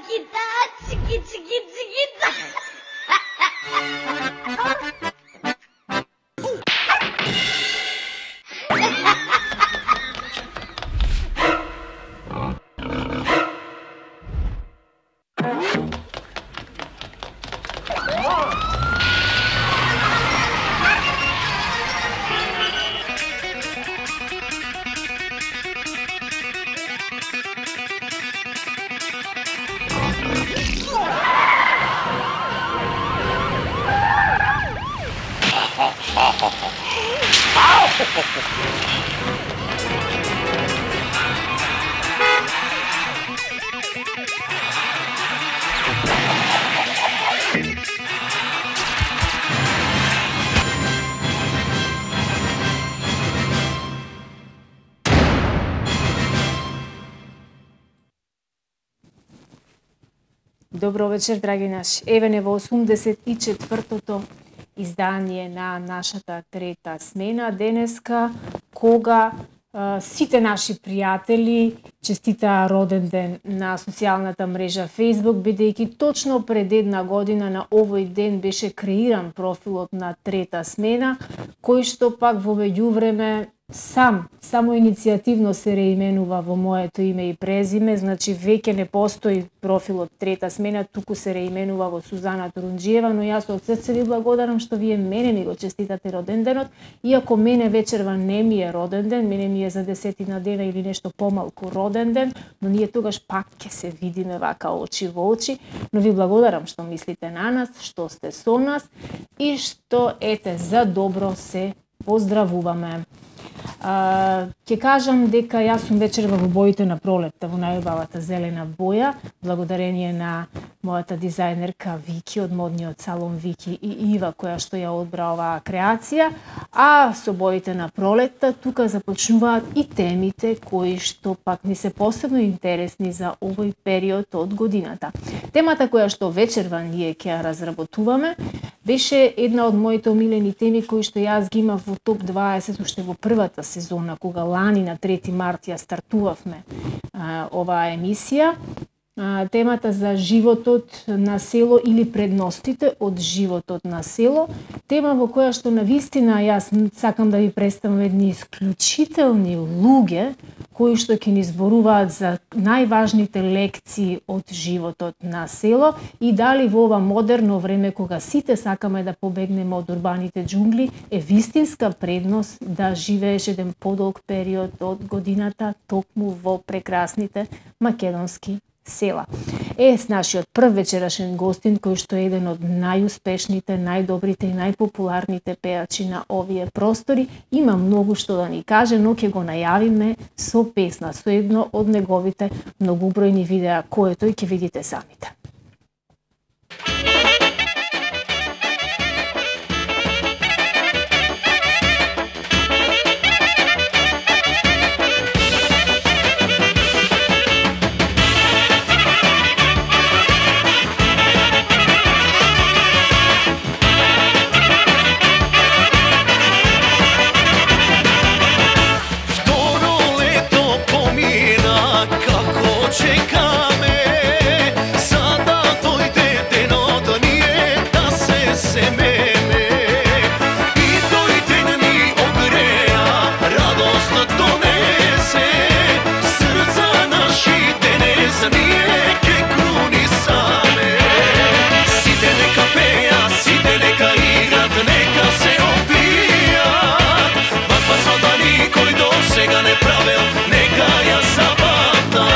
чикита, чики-чики-чикита. Добро вечер, драги наши. Еве не во 84-тото издание на нашата трета смена денеска, кога сите наши пријатели честитаа роден ден на социјалната мрежа Facebook, бидејќи точно пред една година на овој ден беше креиран профилот на трета смена, кој што пак во меѓувреме само иницијативно се реименува во моето име и презиме, значи веќе не постои профилот трета смена, туку се реименува во Сузана Турунџиева, но јас од срце ви благодарам што вие мене ми го честитате роден денот, иако мене вечерва не ми е роден ден, мене ми е за 10 дена или нешто помалку роден ден, но ние тогаш пак ќе се видиме вака очи во очи, но ви благодарам што мислите на нас, што сте со нас и што ете за добро се поздравуваме. Ќе кажам дека јас сум вечерва во боите на пролетта, во најубавата зелена боја, благодарение на мојата дизајнерка Вики од модниот салон Вики и Ива, која што ја одбра оваа креација, а со боите на пролетта тука започнуваат и темите кои што пак ни се посебно интересни за овој период од годината. Темата која што вечерва ние ќе ја разработуваме беше една од моите омилени теми кои што јас ги имав во топ 20 уште во првата сезона, кога лани на 3 март ја стартувавме оваа емисија. Темата за животот на село или предностите од животот на село. Тема во која што навистина јас сакам да ви представам едни исклучителни луѓе кои што ќе ни зборуваат за најважните лекции од животот на село и дали во ова модерно време кога сите сакаме да побегнеме од урбаните џунгли е вистинска предност да живееш еден подолг период од годината токму во прекрасните македонски села. С нашиот прв вечерашен гостин, кој што е еден од најуспешните, најдобрите и најпопуларните пеачи на овие простори, има многу што да ни каже, но ќе го најавиме со песна, со едно од неговите многубројни видеа, кој е тој ќе видите самите. Čekame, sada dojde denot, nije da se semene. I dojde mi ogreja, radost donese, srca naši denes nije ke kruni same. Site neka peja, site neka igrat, neka se opijat, pa sada nikoj do svega ne pravil, neka ja zabavna.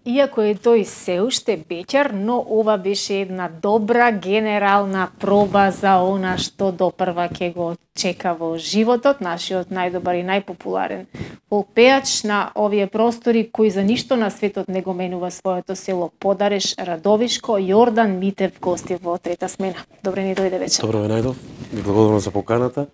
Иако е тој се уште беќар, но ова беше една добра генерална проба за она што допрва ќе го чека во животот, нашиот најдобар и најпопуларен фолк пејач на овие простори, кој за ништо на светот не го менува своето село Подареш, Радовишко. Јордан Митев гости во трета смена. Добре ни дојде вечер. Добро ве најдов, ви благодарам за поканата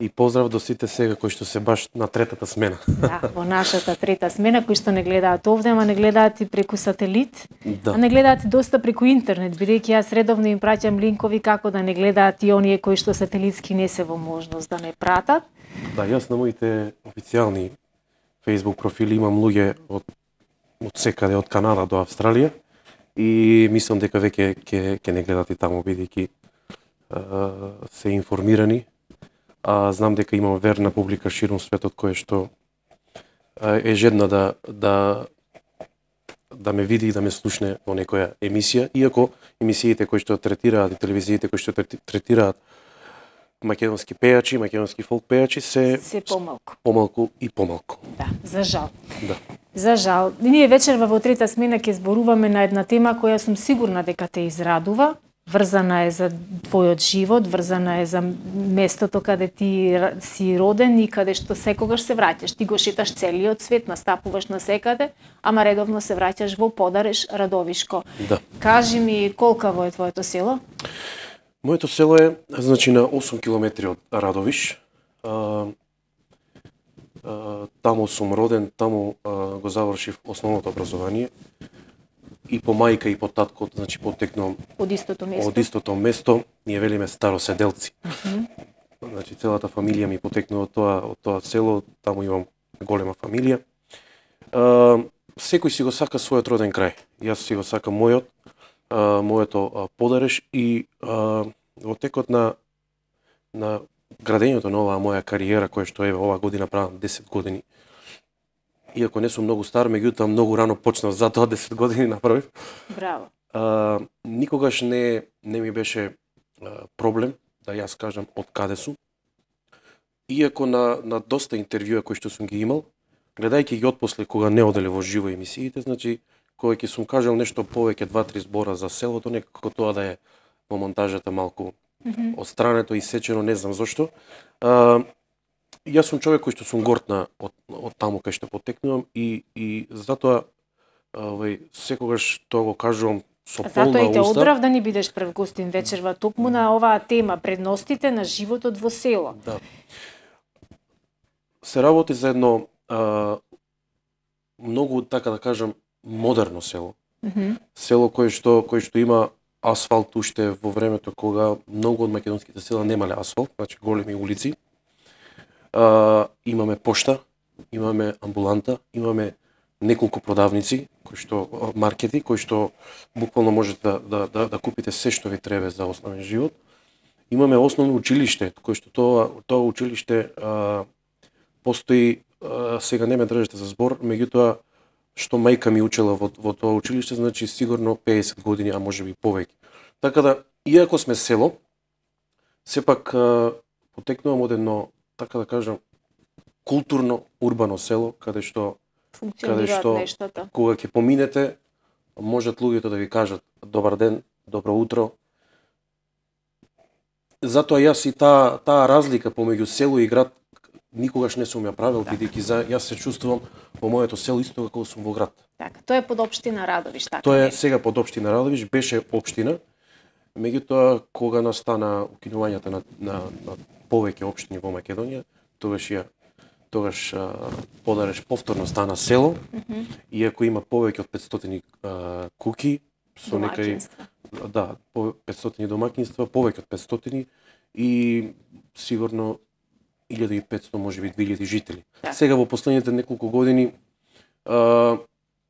и поздрав до сите сега кои што се баш на третата смена. Да, во нашата трета смена, кои што не гледаат овде, ама не гледаат и преку сателит, Да. а не гледаат и доста преку интернет, бидејќи јас редовно им праќам линкови како да не гледаат и оние кои што сателитски не се во можност да не пратат. Да, јас на моите официјални Facebook профили имам луѓе од секаде, од Канада до Австралија и мислам дека веќе ќе не гледат и таму, бидејќи се информирани, а знам дека имам верна публика ширум светот која што е жедна да ме види и да ме слушне во некоја емисија, иако емисиите кои што третираат и телевизиите кои што третираат македонски пејачи, македонски фолк пејачи Се помалку. помалку и помалку. Да, за жал. Да. За жал. Ние вечерва во трета смена ќе зборуваме на една тема која сум сигурна дека те израдува, врзана е за твојот живот, врзана е за местото каде ти си роден и каде што секогаш се враќаш. Ти го шеташ целиот свет, настапуваш на секаде, ама редовно се враќаш во Подареш, Радовишко. Да. Кажи ми, колкаво е твоето село? Моето село е значи на 8 километри од Радовиш. Таму сум роден, таму го завршив основното образование. И по мајка и по татко, значи потекнувам Од истото место? од истото место, ние велиме староседелци. Значи целата фамилија ми потекнува од тоа село, таму имам голема фамилија. Секој си го сака својот роден крај. Јас си го сакам моето Подареш и во текот на градењето на оваа моја кариера, која што е оваа година правам 10 години. Иако не сум многу стар, меѓутоа многу рано почнав, затоа 10 години направив. Браво. Никогаш не ми беше проблем да јас кажам од каде сум. Иако на доста интервјуа кои што сум ги имал, гледајќи ги отпосле кога не оделе во живо емисиите, значи кога ќе сум кажал нешто повеќе 2-3 збора за селото, некако тоа да е во монтажата малку отстрането и сечено, не знам зошто. Јас сум човек кој што сум горд од таму кај што потекнувам и затоа секогаш тоа го кажувам со полна Затоа и те уста. одрав да ни бидеш прв гостин вечерва токму на оваа тема, предностите на животот во село. Да. Се работи за едно многу, така да кажам, модерно село. Село кој што има асфалт уште во времето кога многу од македонските села немале асфалт, значи големи улици. Имаме пошта, имаме амбуланта, имаме неколку продавници, маркети, кои што буквално можете да купите се што ви треба за основен живот. Имаме основно училиште, кој што тоа училиште постои, сега не ме држите за збор, меѓутоа што мајка ми учела во тоа училиште, значи сигурно 50 години, а може би повеќе. Така да, иако сме село, сепак потекнувам од едно, така да кажам, културно, урбано село, каде што нештата. кога ќе поминете, можат луѓето да ви кажат добар ден, добро утро. Затоа јас и таа разлика помеѓу село и град никогаш не сум ја правил, бидејќи јас се чувствувам во моето село исто како сум во град. Така, тоа е под општина Радовиш, така. Тоа е сега под општина Радовиш, беше општина. Меѓутоа кога настана укинувањето на повеќе општини во Македонија, тогаш Подареш повторно стана село, иако има повеќе од 500 куќи, со некај 500 домаќинства, повеќе од 500 и сигурно 1500, можеби 2000 жители. Да. Сега во последните неколку години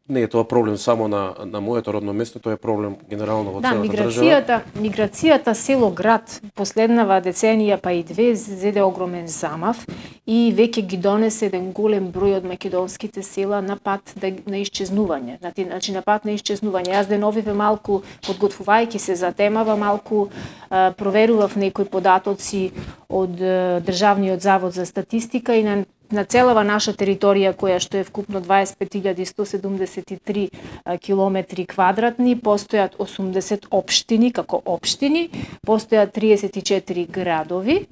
не е тоа проблем само на моето родно место, тоа е проблем генерално во целата држава. Миграцијата село-град последнава деценија па и две зеде огромен замав и веќе ги донесе еден голем број од македонските села на пат на исчезнување. Значи на пат на исчезнување. Јас деновиве малку подготвувајќи се за темава, малку проверував некои податоци од Државниот завод за статистика и на на целава наша територија, која што е вкупно 25.173 километри квадратни, постојат 80 општини како општини, постојат 34 градови,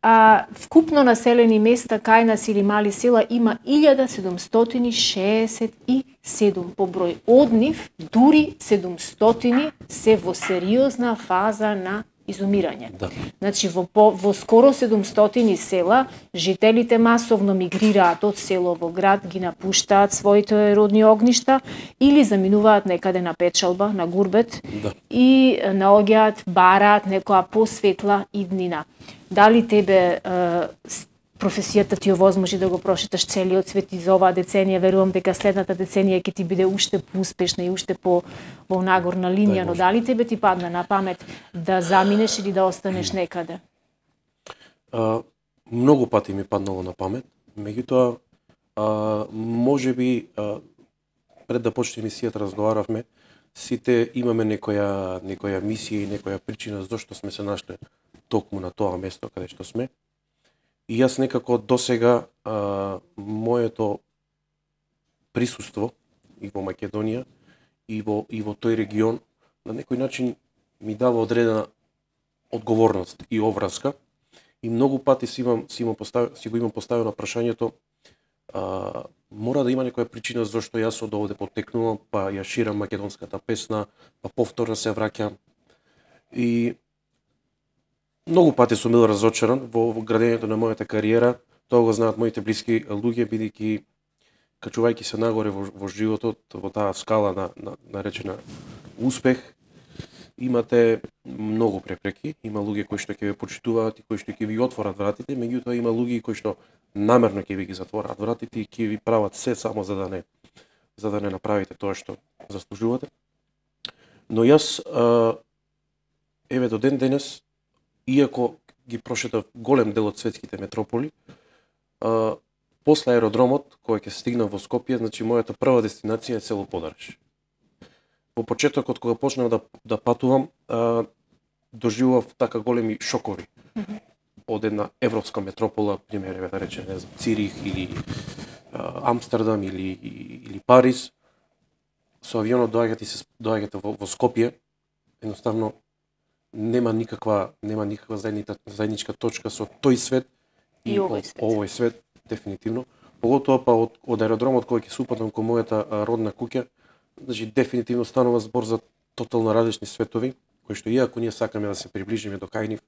а вкупно населени места кај нас или мали села има 1767 по број. Од нив дури 700 се во сериозна фаза на изумирање. Да. Значи во скоро 700 села жителите масовно мигрираат од село во град, ги напуштаат своите родни огништа или заминуваат некаде на печалба, на гурбет, Да. и наоѓаат, бараат некоја посветла иднина. Дали тебе професијата ти овозможи да го прошеташ целиот свет и за оваа деценија, верувам дека следната деценија ќе ти биде уште поуспешна и уште по во нагорна линија, но дали тебе ти падна на памет да заминеш или да останеш некаде? Многу пати ми паднало на памет, меѓутоа можеби пред да почне емисијата разговаравме, сите имаме некоја мисија и некоја причина зашто сме се нашле токму на тоа место каде што сме. И јас некако досега моето присуство и во Македонија и во тој регион на некој начин ми дава одредена одговорност и обврска. И многу пати си го имам поставено прашањето, мора да има некоја причина зашто јас од овде потекнувам, па ја ширам македонската песна, па повторно се враќам. И многу пати сум бил разочаран во градењето на мојата кариера. Тоа го знаат моите блиски луѓе, бидејќи качувајќи се нагоре во животот, во таа скала наречена успех, имате многу препреки. Има луѓе кои што ќе ве почитуваат и кои што ќе ви отворат вратите, меѓутоа има луѓе кои што намерно ќе ви ги затвораат вратите и ќе ви прават се само за да не направите тоа што заслужувате. Но јас еве до ден денес, иако ги прошетав голем дел од светските метрополи, после аеродромот, кој ќе стигнам во Скопје, значи мојата прва дестинација е село Подариш. Во почетокот кога почнав да патувам, доживував така големи шокови од една европска метропола, пример да речем, не знам, Цирих или Амстердам или Париз. Со авионот доаѓате во Скопје, едноставно нема никаква заедничка точка со тој свет и овој свет дефинитивно. Поготоа па од аеродромот кој ќе се упатам кон мојата родна куќа, значи дефинитивно станува збор за тотално различни светови, кои што иако ние сакаме да се приближиме до кај нив,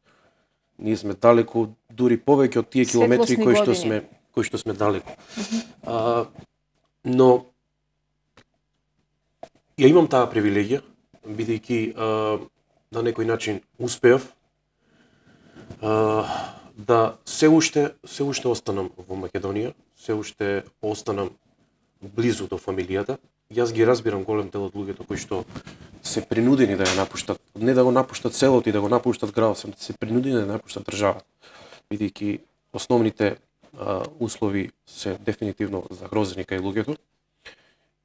ние сме далеку, дури повеќе од тие километри кои што сме далеку. Но ја имам таа привилегија, бидејќи на некој начин успеав да се уште останам во Македонија, се уште останам близу до фамилијата. Јас ги разбирам голем дел од луѓето кои што се принудени да ја напуштат, не да го напуштат селото и да го напуштат градот, се принудени да напуштат државата, бидејќи основните услови се дефинитивно загрозени кај луѓето.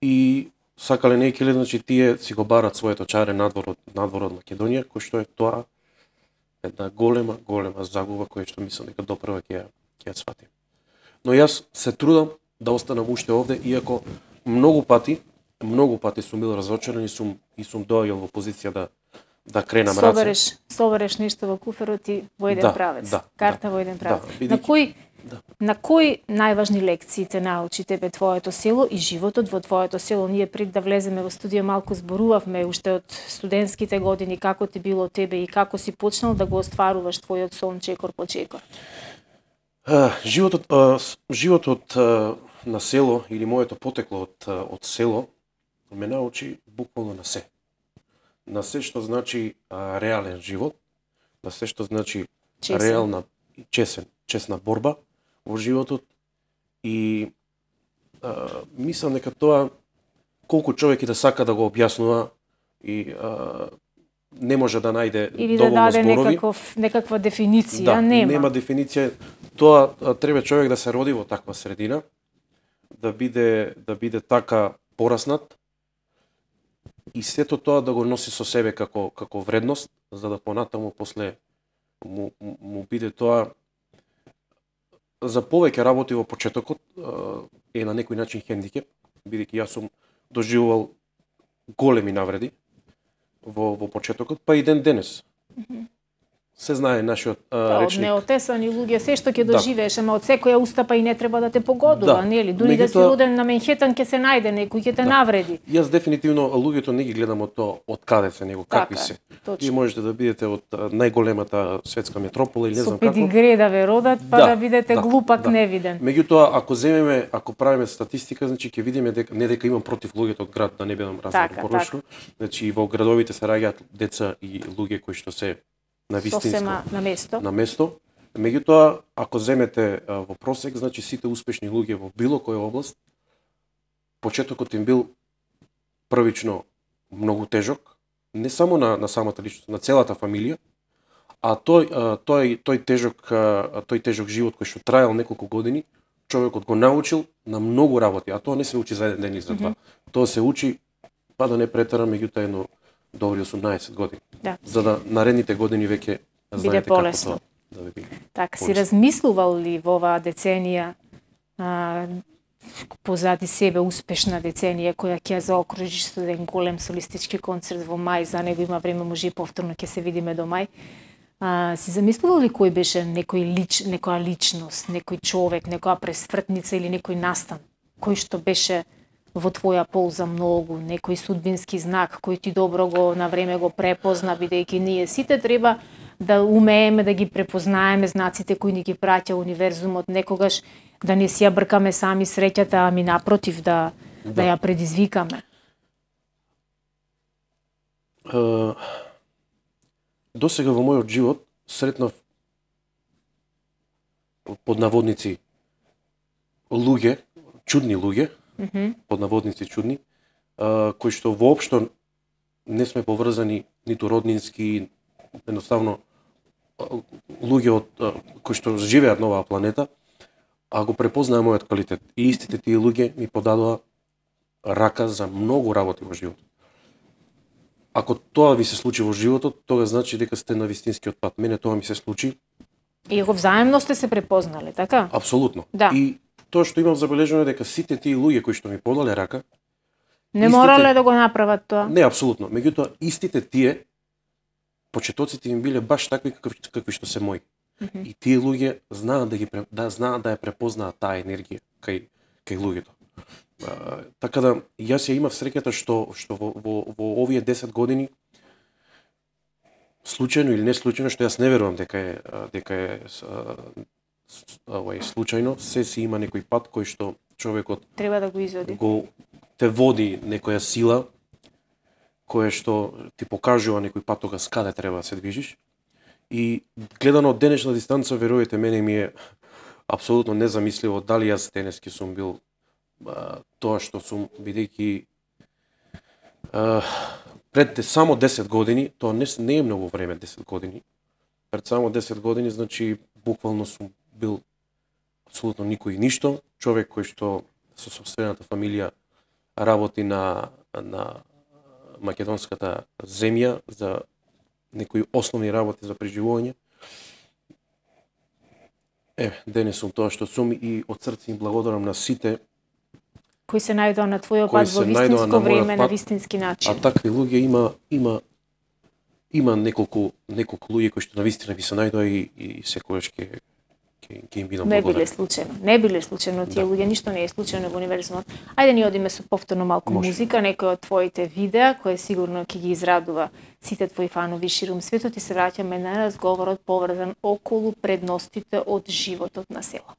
И сакале не екиле, значи тие си го барат своето чаре надвор од Македонија, кој што е тоа една голема загуба која што мислам дека допрва ќе ја сватим. Но јас се трудам да останам уште овде, иако многу пати сум бил разочаран и сум доаѓал во позиција да кренам раце. Собереш нешто во куферот и во еден правец. Карта во еден правец. На кои најважни лекции те научи тебе твоето село и животот во твоето село? Ние пред да влеземе во студија малку зборувавме уште од студентските години, како ти било тебе и како си почнал да го остваруваш твојот сон чекор по чекор. Животот на село или моето потекло од село ме научи буквално на се. На се што значи реален живот, на се што значи реална чесна борба во животот и мислам дека тоа колку човек и да сака да го објаснува и не може да најде или доволно зборови. Или да даде некаква дефиниција, нема дефиниција. Тоа треба човек да се роди во таква средина, да биде така пораснат и сето тоа да го носи со себе како вредност, за да понатаму после му биде тоа за повеќе работи во почетокот е на некој начин хендикеп, бидејќи јас сум доживувал големи навреди во почетокот, па и ден денес. Се знае нашиот Од речник. неотесани луѓе се што ќе Да. доживееш, ама од секоја устапа и не треба да те погодува, Да. нели? Дури да си Меѓутоа- роден на Менхетан ќе се најде некој ќе те навреди. Јас дефинитивно луѓето не ги гледам од тоа од каде се, него какви Така, се. точно. Вие можете да бидете од најголемата светска метропола или не Со знам како. педигре да ве родат, па да бидете глупак невиден. Меѓутоа, ако правиме статистика, значи ќе видиме дека не дека имам против луѓето од град, да не бидам Така, погрешно. Значи во градовите се раѓаат деца и луѓе кои што се на вистинско Сосема на место. на место. Меѓутоа, ако земете во просек, значи сите успешни луѓе во било која област, почетокот им бил првично многу тежок, не само на самата личност, на целата фамилија, а тој тежок живот кој што траел неколку години, човекот го научил на многу работи, а тоа не се учи за еден ден или за два. Тоа се учи, па да не претерам, меѓутоа едно добри 18 години. Да. За да наредните години веќе знаете како полесно. тоа да ви биде. Така, си полесно. размислувал ли во оваа деценија позади себе успешна деценија која ќе ја заокружиш со еден голем солистички концерт во мај, за него има време, може и повторно ќе се видиме до мај. Си замислувал ли кој беше некоја личност, некој човек, некоја пресвртница или некој настан, кој што беше во твоја полза многу, некој судбински знак кој ти добро го на време го препозна, бидејќи ние сите треба да умееме да ги препознаеме знаците кои ни ги праќа универзумот, некогаш да не си ја бркаме сами среќата, ами напротив да ја предизвикаме. До сега во мојот живот сретнав под наводници луѓе, чудни луѓе, под наводници чудни, кои што воопшто не сме поврзани ниту роднински, едноставно луѓе кои што живеат на оваа планета, а го препознаа мојот квалитет. И истите тие луѓе ми подадоа рака за многу работи во животот. Ако тоа ви се случи во животот, тога значи дека сте на вистинскиот пат. Мене тоа ми се случи. И го взаемно сте се препознали, така? Апсолутно. Да. И тоа што имам забележано е дека сите тие луѓе кои што ми подале рака, Не морале да го направат тоа? не апсолутно, меѓутоа истите тие почетоците им биле баш такви какви што се мои. И тие луѓе знаат знаат да ја препознаат таа енергија кај луѓето. Така да јас ја имав среќата што во овие 10 години случајно или не случајно, што јас не верувам дека е случајно, се си има некој пат кој што човекот Треба да го изоди. те води некоја сила која што ти покажува некој пат тогаш каде треба да се движиш. И гледано од денешна дистанца, верувате мене, ми е апсолутно незамисливо дали јас денески сум бил тоа што сум, бидејќи пред само 10 години, тоа не е многу време 10 години, пред само 10 години, значи буквално сум бил апсолутно никој и ништо, човек кој што со сопствената фамилија работи на македонската земја за некои основни работи за преживување. Денес сум тоа што сум и од срце им благодарам на сите Кои се најдоа на твојот кои пат се во најдоа вистинско на мојот време, на пат, вистински а начин. такви луѓе има неколку луѓе кои што навистина би се најдоа и секогаш ќе им бидам Не биле благодарен. случајно. Не биле случајно тие луѓе, ништо не е случајно во универзумот. Ајде ни одиме со повторно малку Може. музика, некој од твоите видеа, кој сигурно ќе ги израдува сите твои фанови ширум светот, и се враќаме на разговорот поврзан околу предностите од животот на село.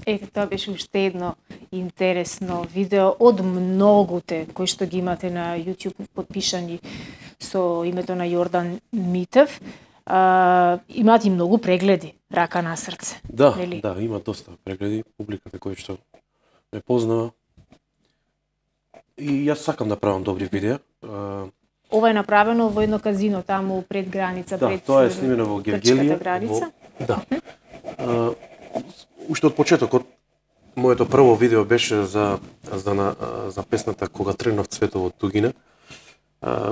Ете, тоа беше уште едно интересно видео од многуте кои што ги имате на YouTube подпишани со името на Јордан Митев. Имаат и многу прегледи, рака на срце. Да, нели? да, има доста прегледи, публиката кој што ме познава. И јас сакам да правам добри видеа. Ова е направено во едно казино таму пред граница, Да, пред тоа е снимено во Гевгелија. граница. Да. Уште од почетокот, моето прво видео беше за песната Кога тргнав цветово од тугина.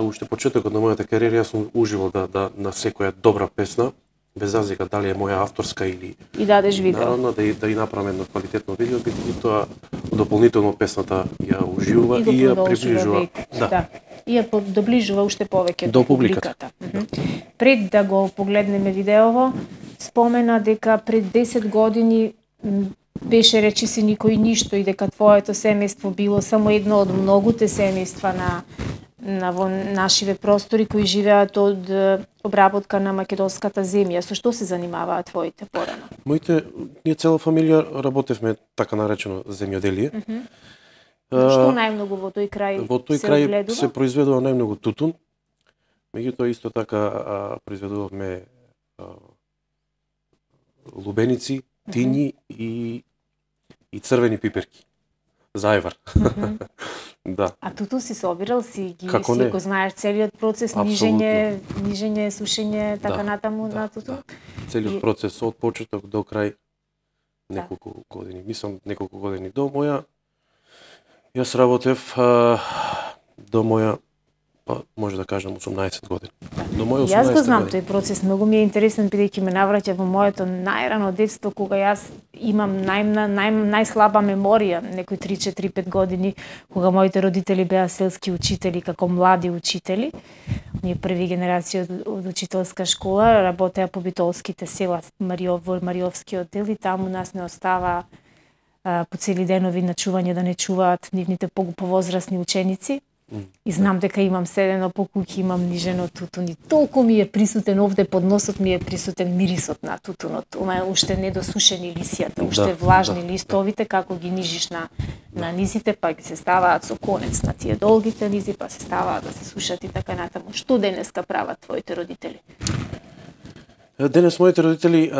Уште почетокот на мојата кариера јас сум уживал да на секоја добра песна, без разлика дали е моја авторска или И дадеш видео. народна, да ја направам едно квалитетно видео, бидејќи тоа дополнително песната ја уживува И го и ја продолжува приближува. векот. Да. И ја доближува уште повеќе До публиката. Пред да го погледнеме видеово, спомена дека пред 10 години беше речиси никој ништо и дека твоето семејство било само едно од многуте семејства на во нашиве простори кои живеат од обработка на македонската земја. Со што се занимаваат твоите порано? Ние цела фамилија работевме така наречено земјоделие. Што најмногу во тој крај Во тој се крај огледува? се произведува најмногу тутун. Меѓутоа исто така произведувавме лубеници, тињи и црвени пиперки. Зајвар. Да. А туту си собирал, си Како не? го знаеш целиот процес, Апсолутно. нижење, сушење, така Да, натаму на туту? Целиот И- процес од почеток до крај неколку години. Мислам неколку години до моја. Јас работев до моја може да кажам 18 години. До моја 18 Јас го знам години. тој процес, многу ми е интересен бидејќи ме навраќа во моето најрано детство кога јас имам најслаба меморија, некои 3-4-5 години, кога моите родители беа селски учители како млади учители. Ние први генерација од учителска школа работеа по битолските села во Мариовскиот дел и таму нас не остава по цели денови на чување да не чуваат нивните повозрасни ученици. И знам дека имам седено по куќи, имам нижено тутун и толку ми е присутен овде под носот ми е присутен мирисот на тутунот. Ова е уште недосушени лисијата, уште влажни листовите како ги нижиш на низите, па ги се ставаат со конец на тие долгите низи, па се ставаат да се сушат и така натаму. Што денеска прават твоите родители? Денес моите родители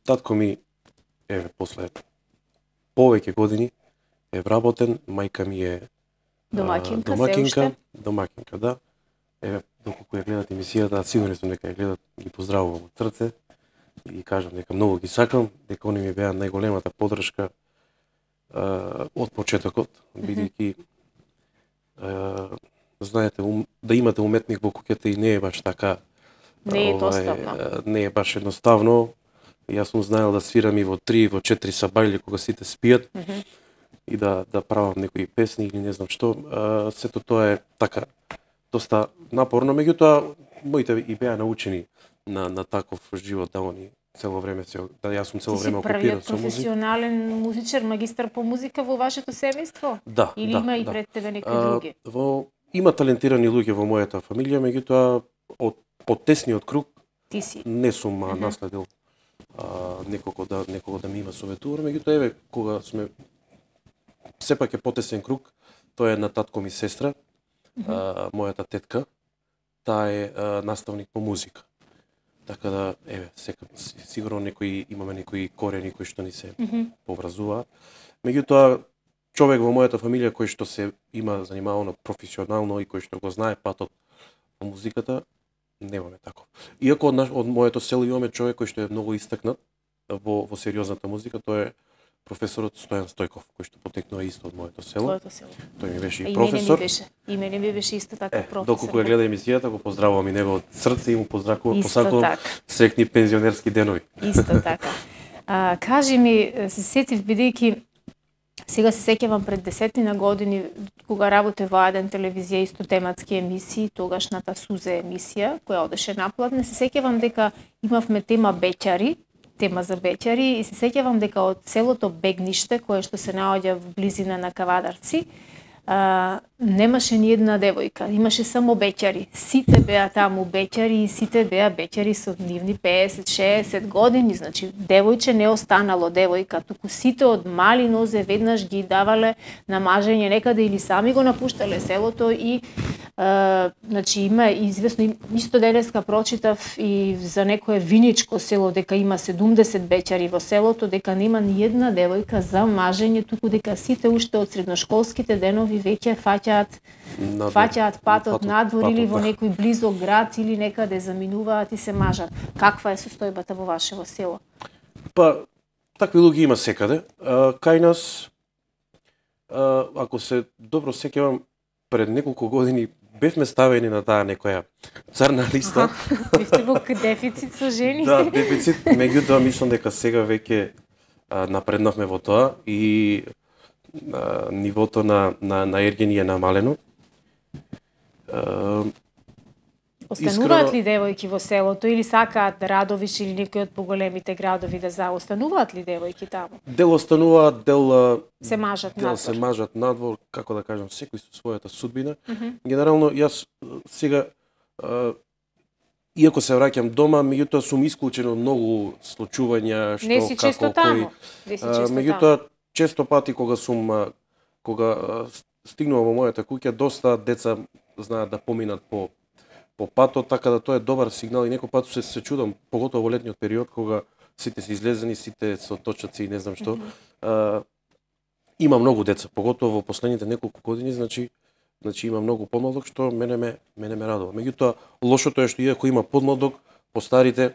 татко ми после повеќе години е вработен, мајка ми е домакинка, да. Доколку ја гледат емисијата, сигурен сум дека ја гледат, ги поздравувам од срце и кажам дека многу ги сакам, дека они ми беа најголемата поддршка од почетокот, бидејќи знаете, да имате уметник во куќата и не е баш така, Не е доставно. не е баш едноставно. Јас сум знаел да свирам и во 3, во 4 сабајли кога сите спијат и да правам некои песни или не знам што. Сето тоа е така доста напорно, меѓутоа моите и беа научени на таков живот да они цело време да јас сум цело време окупиран со музика. Ти си првиот професионален музичар, магистар по музика во вашето семејство? Да, Или да, има и да. пред тебе некои други? Има талентирани луѓе во мојата фамилија, меѓутоа од тесниот круг Ти си. не сум наследил некого да ми има советувано, меѓутоа еве кога сме сепак е потесен круг, тоа е на татко ми сестра, мојата тетка, таа е наставник по музика. Така да, еве, сигурно имаме некои корени кои што ни се поврзуваат. Меѓутоа, човек во мојата фамилија кој што се има занимавано професионално и кој што го знае патот во музиката, немаме таков. Иако од моето село имаме човек кој што е многу истакнат во сериозната музика, тоа е професорот Стојан Стојков, кој што потекнува исто од моето село. Твоето село. Тој ми беше и И професор. мене ми беше исто така професор. Доколку ја гледа емисијата, го поздравувам и него од срце и му посакувам така. среќни пензионерски денови. Исто така. Кажи ми, се сетив бидејќи сега се сеќавам пред 10 години кога работев во еден телевизија исто тематски емисии, тогашната Сузе емисија која одеше наплатна, се сеќавам дека имавме тема за беќари и се сеќавам дека од селото Бегниште, кое што се наоѓа во близина на Кавадарци, немаше ни една девојка, имаше само беќари. Сите беа таму беќари и сите беа беќари со нивни 50-60 години, значи девојче не останало девојка, туку сите од мали нозе веднаш ги давале на мажење некаде или сами го напуштале селото и значи има известно, исто денеска прочитав и за некое виничко село дека има 70 беќари во селото, дека нема ни една девојка за мажење, туку дека сите уште од средношколските денови веќе фаќаат патот надвор или во некој близок град или некаде заминуваат и се мажат. Каква е состојбата во вашево село? Па, такви луѓе има секаде. Кај нас, ако се добро сеќавам, пред неколку години бевме ставени на таа некоја црна листа. Бивте во дефицит со жени? Да, дефицит. Меѓутоа, мислам дека сега веќе напреднавме во тоа и нивото на ергени е намалено. Остануваат ли девојки во селото или сакаат Радовиш или некој од поголемите градови да остануваат ли девојки таму? Дел остануваат, дел се мажат надвор. Се мажат надвор, како да кажам, секој со својата судбина. Генерално, јас сега, иако се враќам дома, меѓутоа сум исклучен од многу случувања, што не си како често таму. Меѓутоа, често пати кога стигнувам во мојата куќа, доста деца знаат да поминат по патот, така да тоа е добар сигнал и некој пат се чудам, поготово во летниот период, кога сите се излезени, сите со точаци и не знам што. Има многу деца, поготово во последните неколку години, значи има многу подмладок, што мене ме радува. Меѓутоа, лошото е што иако има подмладок, постарите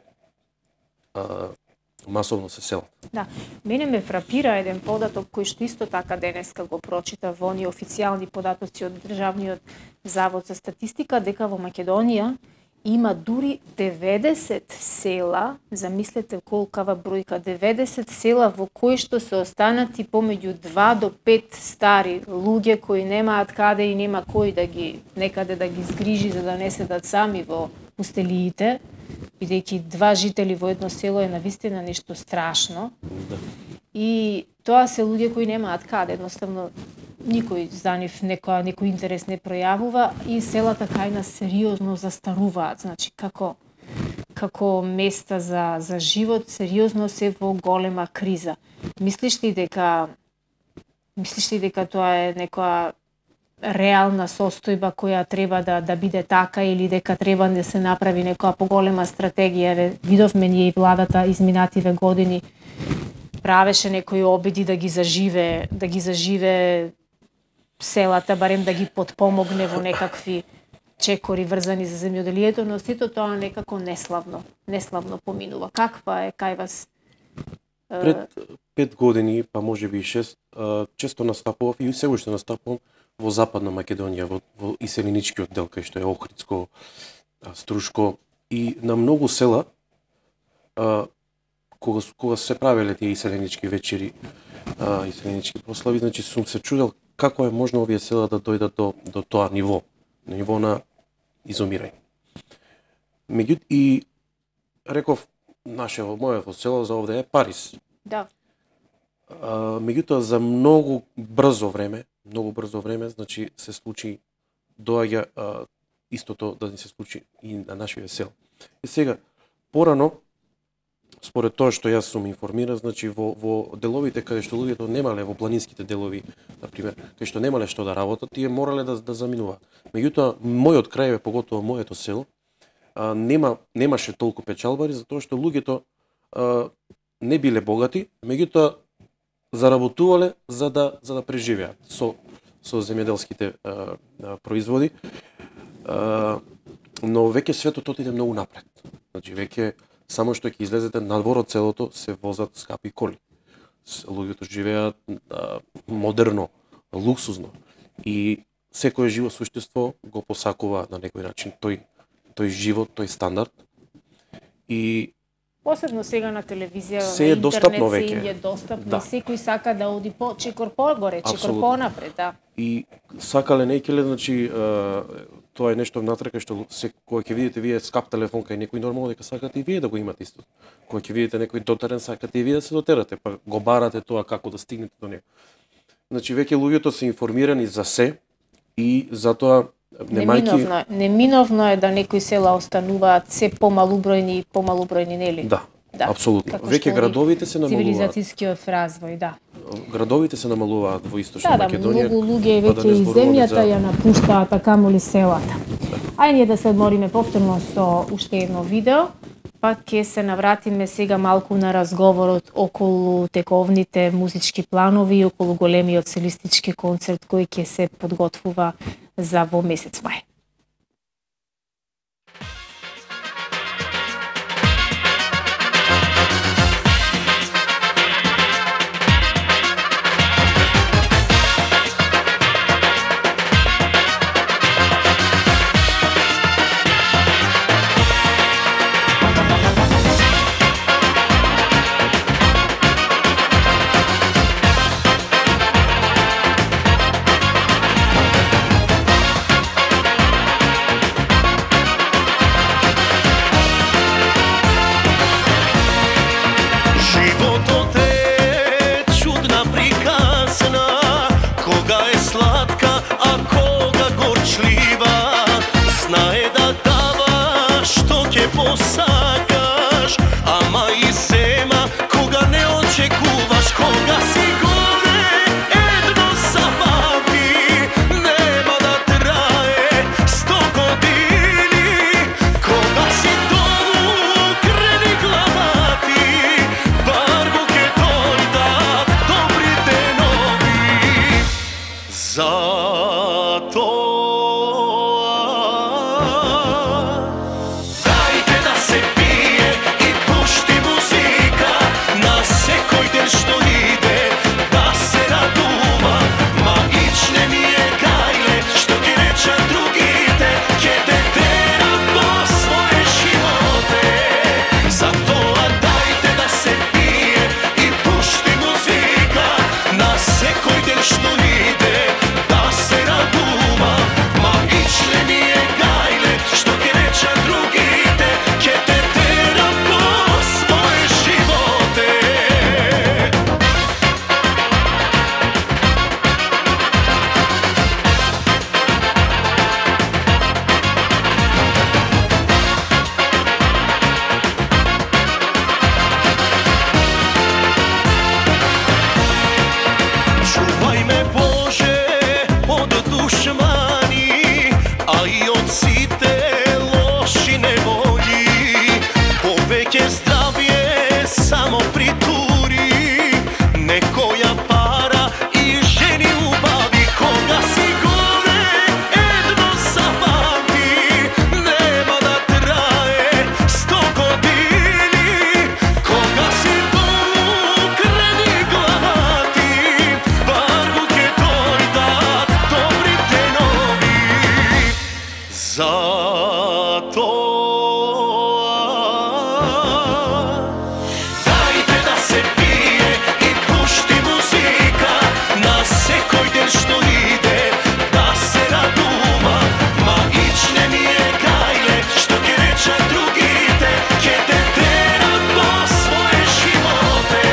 масовно се селат. Да, мене ме фрапира еден податок кој што исто така денеска го прочита во оние официјални податоци од Државниот завод за статистика, дека во Македонија има дури 90 села, замислете колкава бројка, 90 села во кои што се останати помеѓу 2 до 5 стари луѓе кои немаат каде и нема кој да ги некаде да ги згрижи за да не седат сами во пустелиите, бидејќи 2 жители во едно село е навистина нешто страшно. Да. И тоа се луѓе кои немаат каде, едноставно никој за нив некој интерес не пројавува и селата кај нас сериозно застаруваат, значи како места за живот сериозно се во голема криза. Мислиш ли дека тоа е некоја реална состојба која треба да биде така или дека треба да се направи некоја поголема стратегија? Видовме ние и владата изминативе години правеше некои обиди да ги заживе селата, барем да ги потпомогне во некакви чекори врзани за земјоделието, но сето тоа некако неславно поминува. Каква е кај вас? Пред 5 години, па можеби и 6, често настапував и се уште настапувам во Западна Македонија, во иселеничкиот дел, кај што е Охридско, Струшко и на многу села, кога се правеле тие иселенички вечери, иселенички прослави, значи сум се чудел како е можно овие села да дојдат до тоа ниво, на ниво на изумирање. Меѓутоа и реков, моето село за овде е Париз. Да. Меѓутоа за многу брзо време, значи се случи, доаѓа истото да ни се случи и на нашите села. И сега, порано, според тоа што јас сум информиран, значи во деловите каде што луѓето немале, во планинските делови, например, каде што немале што да работат, тие морале да заминуваат. Меѓутоа, мојот крај, поготово моето село, немаше толку печалбари, затоа што луѓето не биле богати, меѓутоа заработувале за да преживеат со земјоделските производи. Но веќе светот отиде многу напред. Значи веќе само што ќе излезете надвор од селото се возат скапи коли. Луѓето живеат модерно, луксузно и секое живо суштество го посакува на некој начин тој живот, тој стандард. И посебно сега на телевизија, се е достапно веќе. Се е достапно, да. Секој сака да оди чекор погоре, чекор понапред, да. И сакале некеле, значи тоа е нешто внатре кај што кога ќе видите вие скап телефон кај некој, нормално дека сакате и вие да го имате исто. Кога ќе видите некој дотерен, сакате и вие да се дотерате, па го барате тоа како да стигнете до него. Значи веќе луѓето се информирани за се, и затоа Неминовно е да некои села остануваат се помалубројни, нели? Да, апсолутно. Како Веќе што градовите се намалуваат. Цивилизацијскиот развој, да. Градовите се намалуваат во Источна Македонија. Многу луѓе па да веќе не и зборуваме земјата за- ја напуштаат, а камоли селата. Ај ние да се одмориме повторно со уште едно видео, па ќе се навратиме сега малку на разговорот околу тековните музички планови и околу големиот солистички концерт кој ќе се подготвува за во месец мај. Животот е чудна приказна, кога е сладка, а кога горчлива. Знае да дава што ќе посакаш, ама и зема кога не очекуваш. Кога си горе, едно запамти, нема да трае 100 години. Кога си долу, крени глава ти, барво ќе дојдат добрите нови. Дајте да се пие и пушти музика, на секој ден што иде да се радува. Магичне ми е гајле, што ќе речат другите, ќе те тера по своје животе. Затоа дајте да се пие и пушти музика, на секој ден што иде да се радува. Магичне ми е гајле, што ќе речат другите, ќе те тера по своје животе. Чувај ме Боже од душмани, а и од сите лоши неволји. Повеќе здравје само притури, некоја пара и жени убави. Кога си горе, едно запамти, нема да трае 100 години. Кога си долу, крени глава ти, барво ќе дојдат добрите нови. Дајте да се пие и пушти музика, на секој ден што иде да се радува. Магичне ми е гајле, што ќе речат другите, ќе те тера по своје животе.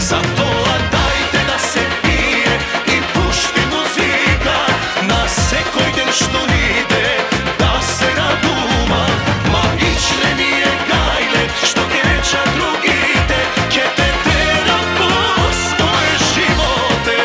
Затоа дајте да се пие и пушти музика, на секој ден што иде да се радува. Магичне ми е гајле, што ќе речат другите, ќе те тера по своје животе.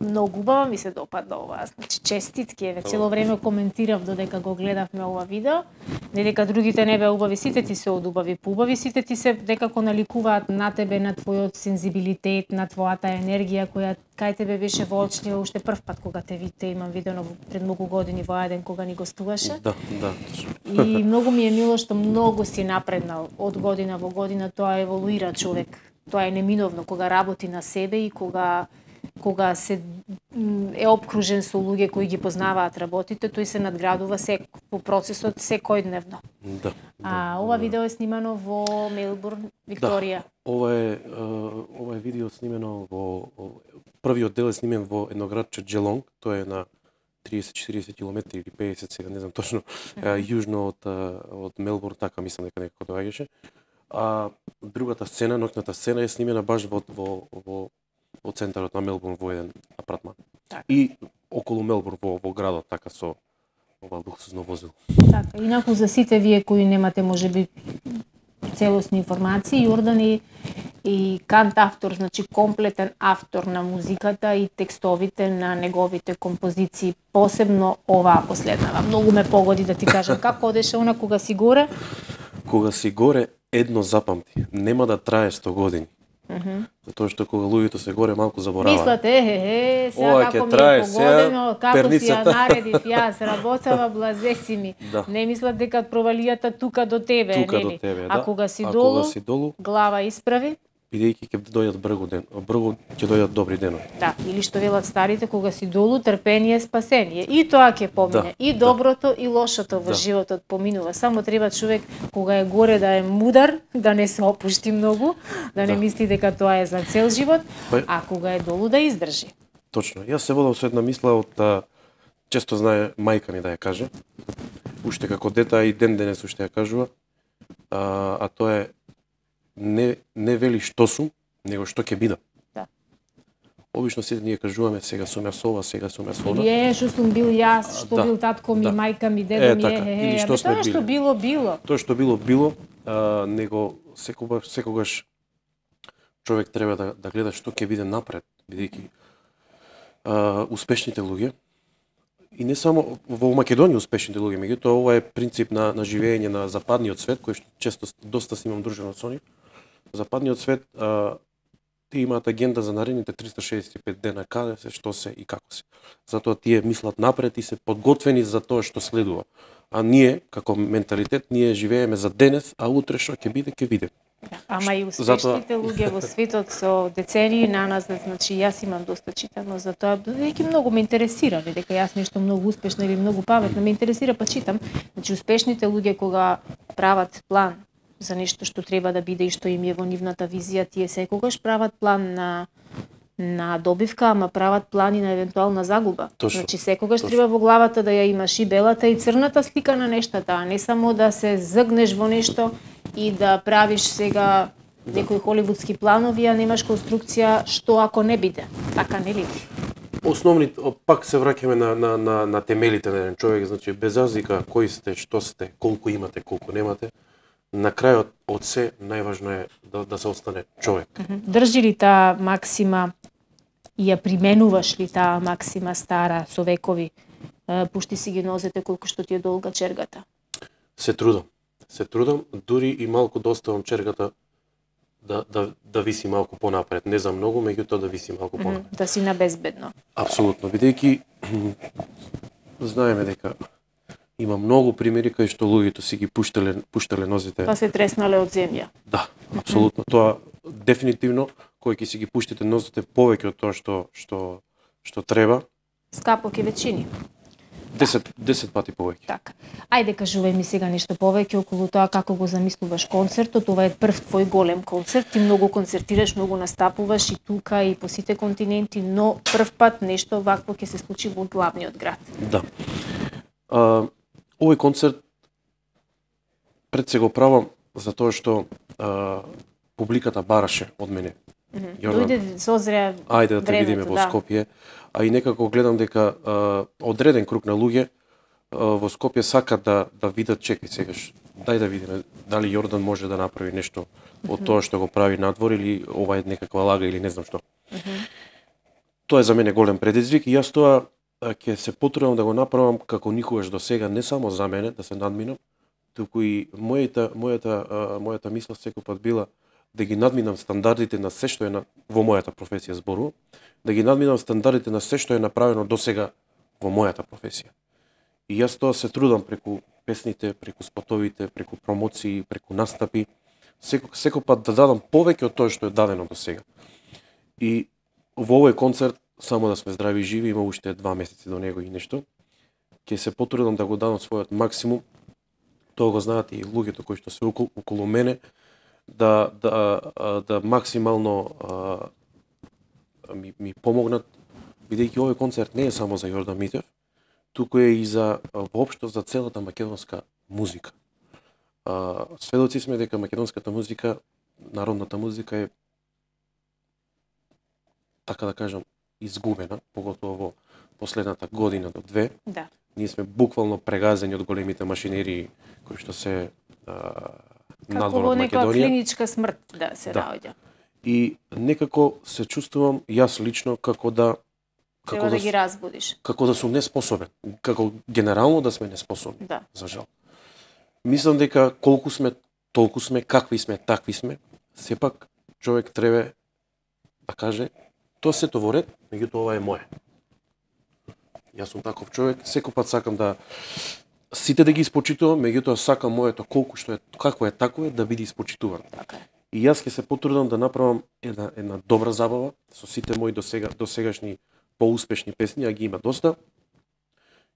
Многу убава ми се допадна ова. Значи честитки, еве цело време коментирав додека го гледавме ова видео. Не дека другите не беа убави, сите ти се од убави по убави, сите ти се некако наликуваат на тебе, на твојот сензибилитет, на твојата енергија која кај тебе беше воочлива уште прв пат кога те видите, имам видено пред многу години во Ајден кога ни гостуваше. Да. И многу ми е мило што многу си напреднал од година во година, тоа еволуира човек. Тоа е неминовно кога работи на себе и кога се е обкружен со луѓе кои ги познаваат работите, тој се надградува по процесот секојдневно. Да. Ова видео е снимано во Мелбурн, Викторија. Да. Ова е видео снимено првиот дел е снимен во едно градче Джелонг, тоа е на 30-40 километри или 50, сега не знам точно, јужно од Мелбурн, така мислам дека некако доаѓаше. А другата сцена, ноќната сцена е снимена баш во центарот на Мелбурн во еден апартман. Так. И околу Мелбурн во градот, така со ова луксузно возило. Така, инаку за сите вие кои немате можеби целосни информации, Јордан е и кантавтор, значи комплетен автор на музиката и текстовите на неговите композиции, посебно оваа последнава. Многу ме погоди да ти кажам како одеше она кога си горе. Кога си горе, едно запамти, нема да трае 100 години. Затоа што кога луѓето се горе малку забораваат. Мислате, сега Ова како ќе ми трае, е погодено, сега како си ја перницата. наредив јас, работава блазеси ми. Да. Не мислат дека провалијата тука до тебе, Тука нели? до тебе, А да. кога си А долу, кога си долу, глава исправи, бидејќи ќе дојдат бргу ќе дојдат добри денови. да, или што велат старите, кога си долу, трпение, спасение. И тоа ќе помине, Да, и доброто, и лошото во Да. животот поминува. Само треба човек кога е горе да е мудар, да не се опушти многу, да не Да. мисли дека тоа е за цел живот, Па- а кога е долу да издржи. Точно. Јас се водам со една мисла од често знае мајка ми да ја каже. Уште како дете, а и ден денес уште ја кажува. А тоа е не вели што сум, него што ќе бидам. Да. Обично сите ние кажуваме сега сум јас ова, сега сум јас она. Или што сум бил јас, што Да, бил татко ми, да. мајка ми, дедо ми, така, или што сме тоа што били. било, било. Тоа што било, него секогаш човек треба да гледа што ќе биде напред, бидејќи успешните луѓе и не само во Македонија успешните луѓе, меѓутоа ова е принцип на живење на западниот свет, кој што често доста си имам дружено со нив. Западниот свет тие имаат агенда за наредните 365 дена, каде се, што се и како се. Затоа тие мислат напред и се подготвени за тоа што следува. А ние, како менталитет, ние живееме за денес, а утре што ќе биде, ќе биде. Ама и успешните луѓе во светот со децении на нас, значи јас имам доста читано за тоа, бидејќи многу ме интересира, дека јас нешто многу успешно или многу паметно ме интересира, па читам. Значи успешните луѓе кога прават план за нешто што треба да биде и што им е во нивната визија, тие секогаш прават план на добивка, ама прават плани на евентуална загуба. Точно, Значи секогаш точно. треба во главата да ја имаш и белата и црната слика на нештата, а не само да се згнеш во нешто и да правиш сега некои холивудски планови, а немаш конструкција што ако не биде. Така нели? Основни, пак се враќаме на темелите на еден човек, значи без разлика кои сте, што сте, колку имате, колку немате, на крајот од се најважно е да се остане човек. Држи ли таа максима и ја применуваш ли таа максима стара со векови? Пушти си ги нозете колку што ти е долга чергата. Се трудам, дури и малку да оставам чергата да виси малку понапред. Не за многу, меѓутоа да виси малку понапред. Да си на безбедно. Апсолутно, бидејќи знаеме дека има многу примери кај што луѓето си ги пуштале нозите. Па се треснале од земја. Да, апсолутно. Тоа дефинитивно кој ќе си ги пуштите нозите повеќе од тоа што треба, Скапо ке вечини. 10 пати повеќе. Така. Ајде кажувај ми сега нешто повеќе околу тоа како го замислуваш концертот. Ова е прв твој голем концерт. Ти многу концертираш, многу настапуваш и тука и по сите континенти, но прв пат нешто вакво ќе се случи во главниот град. Да. Овој концерт пред се го правам затоа што публиката бараше од мене. Дојде созреа Ајде да те видиме времето, во Скопје, а и некако гледам дека одреден круг на луѓе во Скопје сакат да видат, чекај сегаш, дај да видиме дали Јордан може да направи нешто од тоа што го прави надвор или ова е некаква лага или не знам што. Тоа е за мене голем предизвик и јас тоа ќе се потрудам да го направам како никогаш до сега, не само за мене да се надминам, туку и мојата мисла секој пат била да ги надминам стандардите на се што е во мојата професија збору, да ги надминам стандардите на се што е направено до сега во мојата професија. И јас тоа се трудам преку песните, преку спотовите, преку промоции, преку настапи, секој пат да дадам повеќе од тоа што е дадено до сега. И во овој концерт, само да сме здрави и живи, има уште 2 месеци до него и нешто, ќе се потрудам да го дадам својот максимум. Тоа го знаат и луѓето кои што се околу мене, да максимално ми помогнат, бидејќи овој концерт не е само за Јордан Митев, туку е и за воопшто за целата македонска музика. Сведоци сме дека македонската музика, народната музика е, така да кажам, изгубена, поготово во последната година до 2. Да. Ние сме буквално прегазени од големите машинерии кои што се надвор од Македонија. Како во некоја клиничка смрт да се наоѓа. И некако се чувствувам јас лично како да Треба да ги разбудиш. Како да сум неспособен, како генерално да сме неспособни. Да. За жал. Мислам дека колку сме, толку сме, какви сме, такви сме, сепак човек треба да каже тоа сето во ред, меѓутоа ова е моје. Јас сум таков човек, секој пат сакам да сите да ги испочитувам, меѓутоа сакам моето колку што е, како е тако е да биде испочитувано. Така. И јас ќе се потрудам да направам една добра забава со сите мои досегашни поуспешни песни, а ги има доста.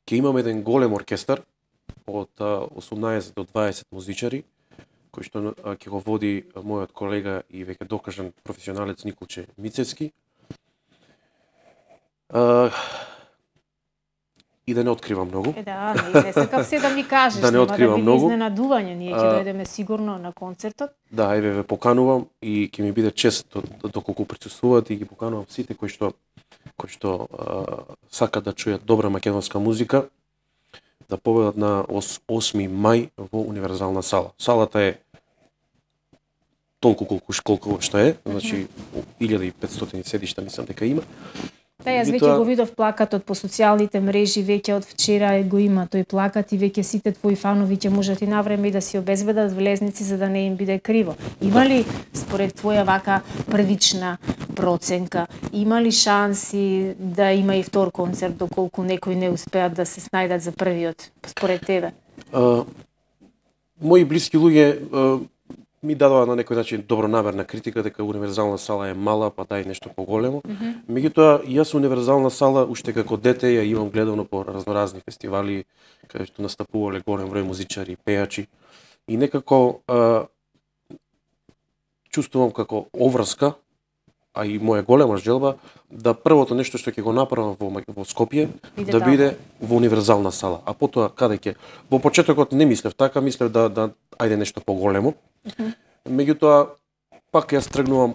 Ќе имам еден голем оркестар од 18 до 20 музичари, кој што ќе го води мојот колега и веќе докажан професионалец Николче Мицевски. И да не откривам многу. Да, не сакав се да ми кажеш, да не откривам да многу. Изненадување, ние ќе дојдеме сигурно на концертот. Да, еве ве поканувам и ќе ми биде чест доколку присуствуваат и ги поканувам сите кои што сакат да чујат добра македонска музика, да победат на 8 мај во Универзална сала. Салата е толку колку што е, значи 1500 седишта мислам дека има. Да, јас веќе го видов плакатот по социјалните мрежи, веќе од вчера го има тој плакат и веќе сите твои фанови ќе можат и навреме и да си обезбедат влезници за да не им биде криво. Има ли според твоја вака првична проценка, има ли шанси да има и втор концерт доколку некои не успеат да се снајдат за првиот според тебе? Мои блиски луѓе ми дадоа на некој начин добронамерна критика дека Универзална сала е мала, па дај нешто поголемо. Меѓутоа, јас Универзална сала уште како дете ја имам гледано по разноразни фестивали каде што настапувале голем број музичари, пејачи и некако чувствувам како оврска, а и моја голема желба да првото нешто што ќе го направам во Скопје да биде во Универзална сала. А потоа каде ќе? Во почетокот не мислев така, мислев да ајде нешто поголемо. Меѓутоа пак јас тргнувам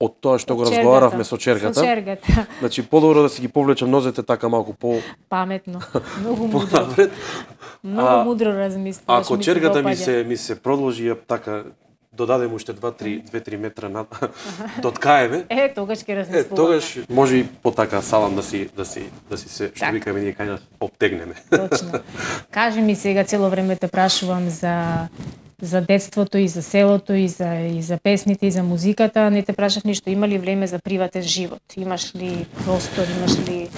од тоа што го разговаравме со чергата. Со чергата. Значи подобро да си ги повлечам нозете така малку по паметно. Многу мудро. Многу мудро размислуваш. Ако чергата ми се продолжи така додадем уште 2-3 метра до ткаеме. Тогаш ќе размислуваме. Тогаш може и потака салам да си се што викаме ние кај нас обтегнеме. Точно. Кажи ми сега, цело време те прашувам за детството и за селото и за песните и за музиката, не те прашав ништо, има ли време за приватен живот? Имаш ли простор, имаш ли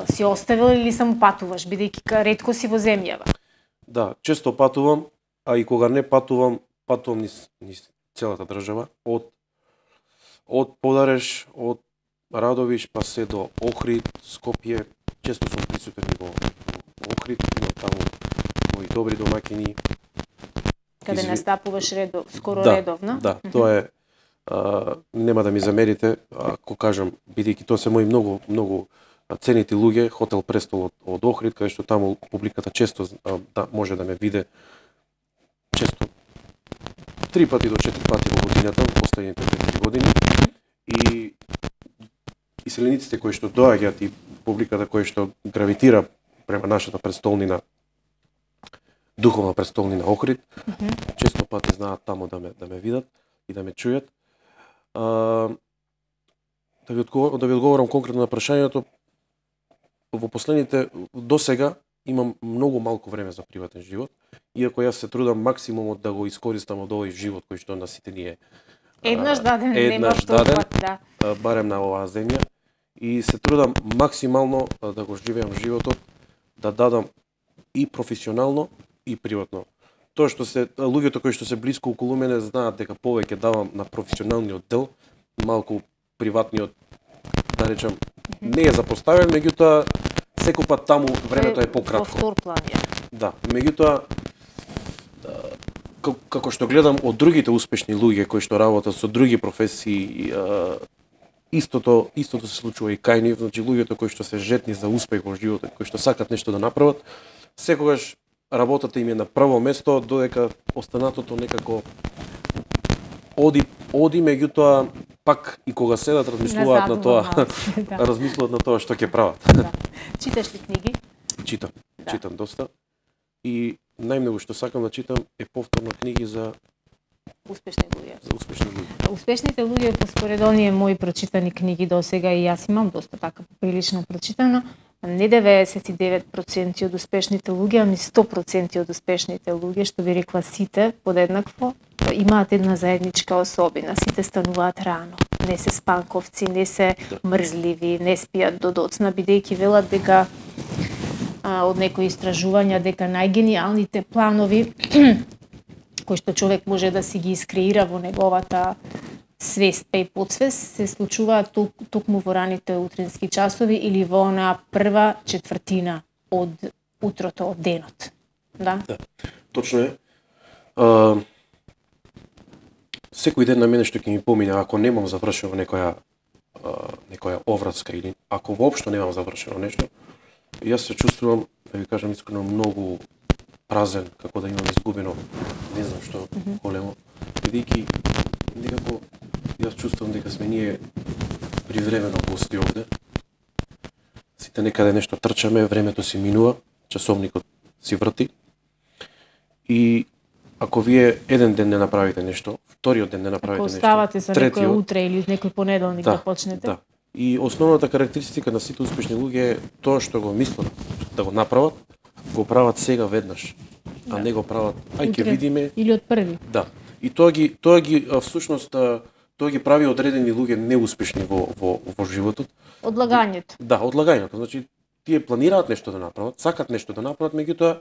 си оставил или само патуваш, бидејќи ретко си во земјава? Да, често патувам, а и кога не патувам низ целата држава, од Подареш, од Радовиш, па се до Охрид, Скопје, често сум присутен во Охрид, има таму мои добри домаќини. Каде настапуваш редовно? Да, тоа е, нема да ми замерите, ако кажам, бидејќи тоа се мои многу ценити луѓе, Хотел Престол од Охрид, каде што таму публиката често може да ме виде, често 3 пати до 4 пати во годината, во последните 4 години, и иселениците кои што доаѓаат и публиката која што гравитира према нашата престолнина, духовна престолнина Охрид, често пати знаат таму да ме видат и да ме чујат. да ви одговорам конкретно на прашањето, во последните досега имам многу малку време за приватен живот, иако јас се трудам максимумот да го искористам од овој живот кој што на сите ни е Еднаш даден, нема даден, втор пат, да. барем на оваа земја, и се трудам максимално да го живеам животот, да дадам и професионално и приватно. Тоа што се луѓето кои што се блиску околу мене знаат дека повеќе давам на професионалниот дел, малку приватниот, да речам, не е запоставен, меѓутоа секој пат таму времето е пократко. Во втор план е. Да, меѓутоа како што гледам од другите успешни луѓе кои што работат со други професии, истото се случува и кај нив, значи луѓето кои што се жетни за успех во животот, кои што сакат нешто да направат, секогаш работата им е на прво место, додека останатото некако оди меѓутоа пак и кога седат размислуваат на тоа, да. размислуваат на тоа што ќе прават. Да. Читаш ли книги? Читам доста. И најмногу што сакам да читам е повторно книги за Успешни луѓе. успешни луѓе. Успешните луѓе поспоред оние мои прочитани книги досега, и јас имам доста така прилично прочитано, не 99% од успешните луѓе, ами 100% од успешните луѓе, што би рекла сите подеднакво, имаат една заедничка особина. Сите стануваат рано. Не се спанковци, не се мрзливи, не спијат до доцна, бидејќи велат дека од некои истражувања дека најгениалните планови кои што човек може да си ги искреира во неговата свест па и подсвест се случуваат токму во раните утрински часови или во онаа прва четвртина од утрото, од денот. Да? Да, точно е. Секој ден на мене што ќе ми помине, ако немам завршено некоја овраска или ако воопшто немам завршено нешто, јас се чувствувам, да ви кажам искрено, многу празен, како да имам изгубено, не знам што големо, бидејќи некако јас чувствувам дека сме ние привремено гости овде. Сите некаде нешто трчаме, времето си минува, часовникот си врти. И ако вие еден ден не направите нешто, вториот ден не направите нешто, оставате за некој третиот, утре или некој понеделник да почнете. Да. И основната карактеристика на сите успешни луѓе е тоа што го мислат да го направат, го прават сега веднаш, а не го прават ај ќе видиме или од први. Да. И тоа ги всушност тоа ги прави одредени луѓе неуспешни во животот. Одлагањето. Да, одлагањето. Значи тие планираат нешто да направат, сакат нешто да направат, меѓутоа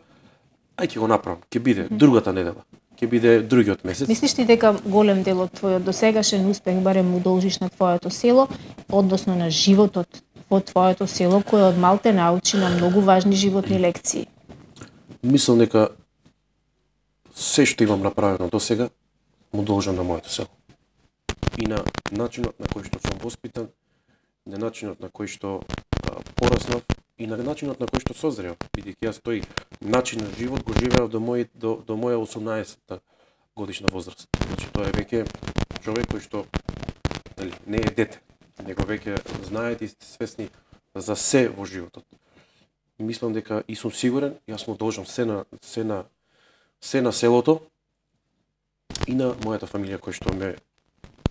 ај ќе го направам, ќе биде другата недела, ќе биде другиот месец. Мислиш ли дека голем дел од твојот досегашен успех барем му должиш на твоето село, односно на животот во твоето село, кој од малте научи на многу важни животни лекции? Мислам дека се што имам направено досега му должам на моето село. И на начинот на кој што сум воспитан, на начинот на кој што пораснав и на начинот на кој што созрев, бидејќи јас тој начин на живот го живеав до моја 18-та годишна возраст. Значи тоа е веќе човек кој што не е дете, него веќе знаете и сте свесни за се во животот. И мислам дека и сум сигурен, јас му должам се на селото и на мојата фамилија кој што ме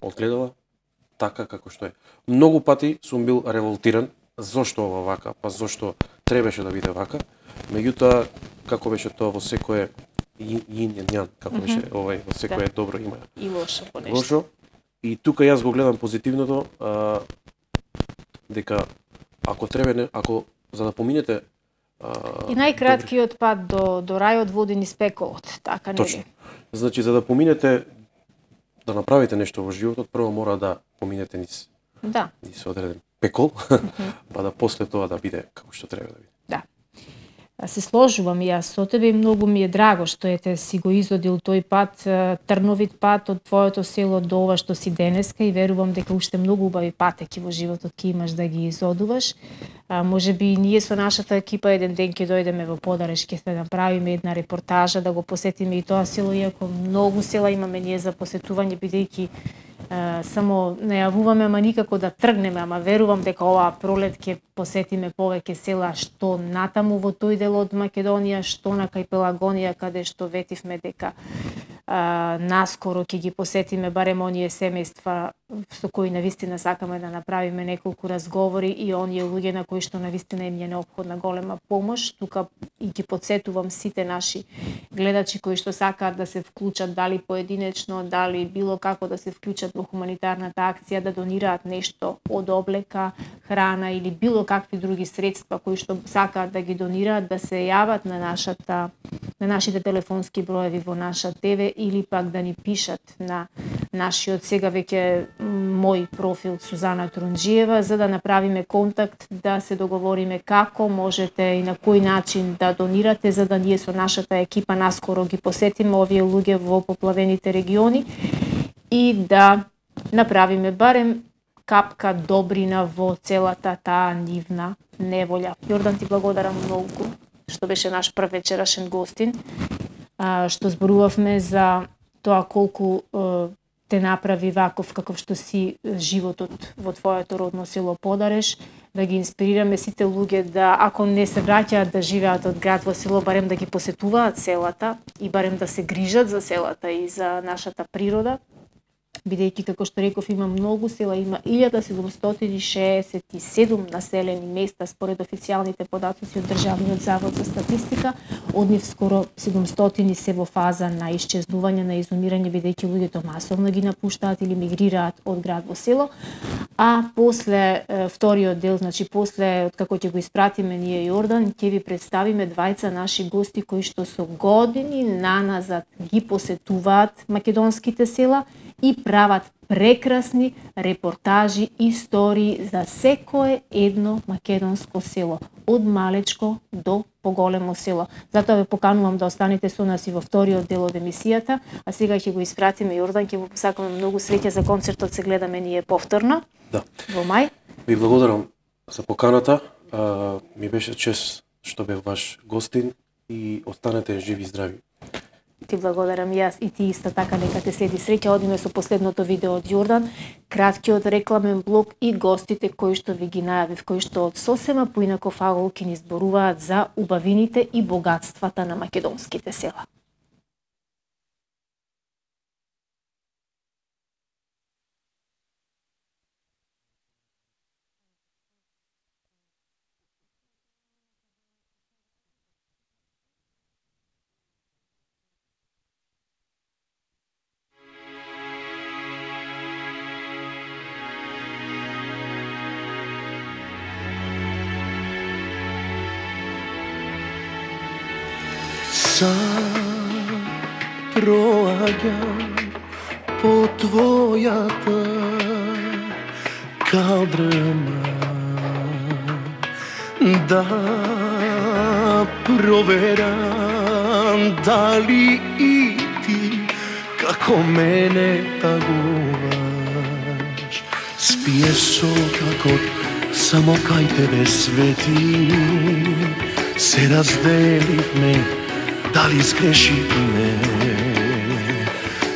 одгледала така како што е. Многу пати сум бил револтиран зошто ова вака, па зошто требаше да биде вака. Меѓутоа, како беше тоа во секое јин јан, како беше во секое добро има и лошо по нешто. Лошо. И тука јас го гледам позитивното, дека ако за да поминете и најкраткиот пат до рајот води низ пеколот, така нели? Точно. Значи за да поминете да направите нешто во животот, прво мора да поминете низ одреден пекол, па да после тоа да биде како што треба да биде. Да. Се сложувам и јас со тебе и многу ми е драго што ете си го изодил тој пат, трновит пат од твоето село до ова што си денеска и верувам дека уште многу убави патеки во животот ќе имаш да ги изодуваш. Може би ние со нашата екипа еден ден ќе дојдеме во Подареш, ќе се направиме една репортажа, да го посетиме и тоа село, иако многу села имаме ние за посетување, бидејќи само најавуваме, ама никако да тргнеме, ама верувам дека оваа пролет ќе посетиме повеќе села што натаму во тој дел од Македонија, што на кај Пелагонија, каде што ветивме дека наскоро ќе ги посетиме барем оние семејства со кои навистина сакаме да направиме неколку разговори и оние луѓе на кои што навистина им е неопходна голема помош. Тука и ги потсетувам сите наши гледачи кои што сакаат да се вклучат, дали поединечно, дали било како да се вклучат во хуманитарната акција, да донираат нешто од облека, храна или било какви други средства кои што сакаат да ги донираат, да се јават на нашите телефонски броеви во наша ТВ или пак да ни пишат на нашиот сега веќе мој профил Сузана Трунџиева, за да направиме контакт, да се договориме како можете и на кој начин да донирате, за да ние со нашата екипа наскоро ги посетиме овие луѓе во поплавените региони и да направиме барем капка добрина во целата таа нивна неволја. Јордан, ти благодарам многу што беше наш прв вечерашен гостин, што зборувавме за тоа колку те направи ваков каков што си животот во твоето родно село Подареш, да ги инспирираме сите луѓе да, ако не се враќаат да живеат од град во село, барем да ги посетуваат селата и барем да се грижат за селата и за нашата природа, бидејќи, како што реков, има многу села, има 1767 населени места според официјалните податоци од Државниот завод за статистика. Од нив скоро 700 се во фаза на исчезнување, на изумирање, бидејќи луѓето масовно ги напуштаат или мигрираат од град во село. А после вториот дел, значи после откако ќе го испратиме ние Јордан, ќе ви представиме двајца наши гости кои што со години наназад ги посетуваат македонските села и прават прекрасни репортажи, истории за секое едно македонско село, од малечко до поголемо село. Затоа ве поканувам да останете со нас и во вториот дел од емисијата, а сега ќе го испратиме Јордан, ќе го посакаме многу среќа за концертот, се гледаме ние повторно. Да. Во мај. Ви благодарам за поканата. Ми беше чест што бев ваш гостин и останете живи и здрави. Ти благодарам јас и ти исто така, нека те следи среќа. Одиме со последното видео од Јордан, краткиот рекламен блок и гостите кои што ви ги најавив, кои што од сосема поинаков агол ќе ни зборуваат за убавините и богатствата на македонските села. Проаѓам по твојата калдрма, да проверам дали и ти како мене тагуваш. Спие сокакот само кај тебе свети, се разделивме, дали сгрешивме?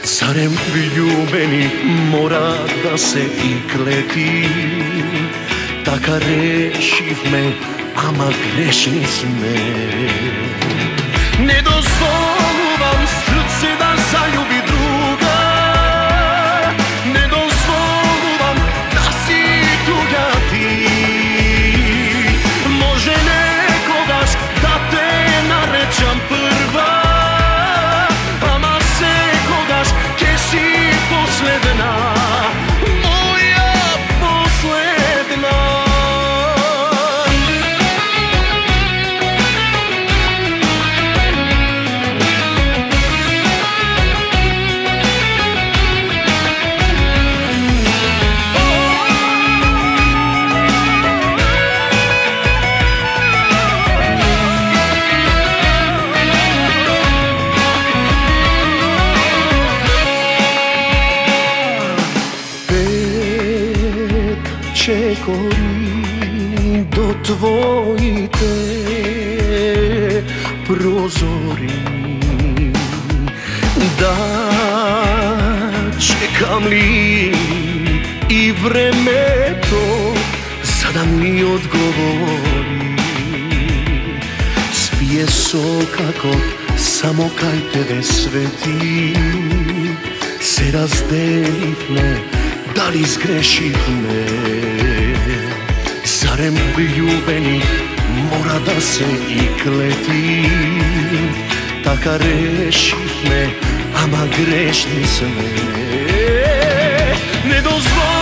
Зарем влюбени мора да се и клети? Така решивме, ама грешни сме. Не дозволувам срце да заљуби друга, не дозволувам да си туѓа ти. Може некогаш да те наречам прва, ама секогаш ќе си последна, моја последна. Чекори до твоите прозори, да чекам ли и времето за да ми одговори. Спие сокакот само кај тебе свети, се разделивме, дали сгрешивме? Зарем љубени мора да се и клети? Така решивме, ама грешни сме. Не дозволи